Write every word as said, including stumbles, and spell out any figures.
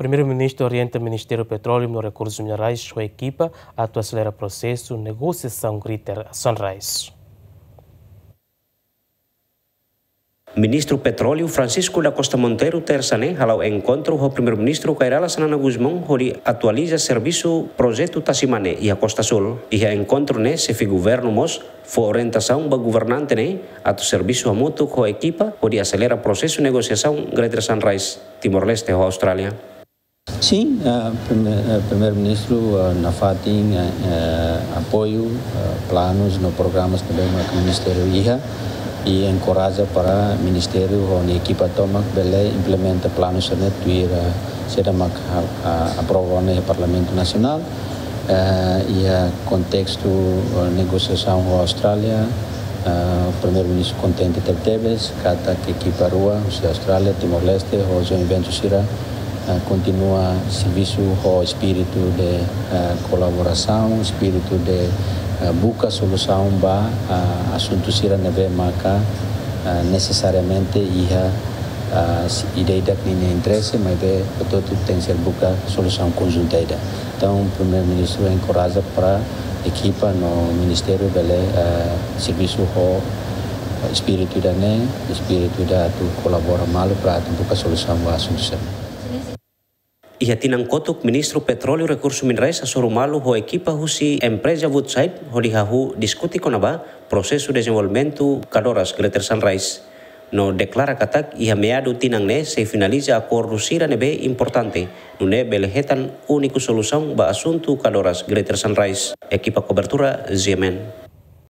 Primeiru-Ministru orienta Ministériu Petróleu no Rekursus Minerais ho ekipa atu aselera prosesu negosiasaun Greater Sunrise. Ministru Petróleu Francisco da Costa Monteiro, tersa ne'e, hala'o enkontru ho Primeiru-Ministru Kay Rala Xanana Gusmão, hodi atualiza servisu projetu Tasi Mane iha Costa Sul. Iha enkontru ne'e, xefe governu mós fó orientasaun ba governante ne'e atu servisu hamutuk ho ekipa hodi aselera prosesu negosiasaun Greater Sunrise Timor-Leste ho Austrália. Sin, ah, prime-, ah, Primeiru-Ministru, ah, nafatin, ah, ah, apoiu, ah, planus no programas ne'ebé mak ministériu iha, i enkoraja para ministériu ho nia ekipa tomak bele implementa planus ne'e tuir, ah, saida mak, ah, ah, aprova ona iha Parlamentu Nasionál. Eh, iha kontestu, eh, negosiasaun ho Austrália, eh, Primeiru-Ministru kontente tebetebes katak ekipa rua husi Austrália, Timor-Leste, ho joint venture sira, eh, kontinua servisu ho espíritu de, eh, kolaborasaun, espíritu de, eh, buka solusaun ba, eh, asuntu sira ne'ebé maka, eh, nesesariamente iha, eh, ida-idak ninia interese, maibé hotu-hotu tenke ser buka solusaun konjunta ida. Entaun, Primeiru-Ministru enkoraja para ekipa no ministériu bele, eh, servisu ho espíritu ida-ne'e, espíritu ida atu kolabora malu para atu buka solusaun ba asuntu sira-ne'e. Iha tinan kotuk, Ministru Petróleu Rekursus Minerais hasoru malu ho ekipa husi empreza Woodside hodi hahú diskute kona-ba prosesu dezenvolvimentu kadoras Greater Sunrise. No deklara katak iha meadu tinan ne'e sei finaliza akordu sira ne'ebé importante, nune'e bele hetan úniku solusaun ba asuntu kadoras Greater Sunrise. Ekipa kobertura, G M N.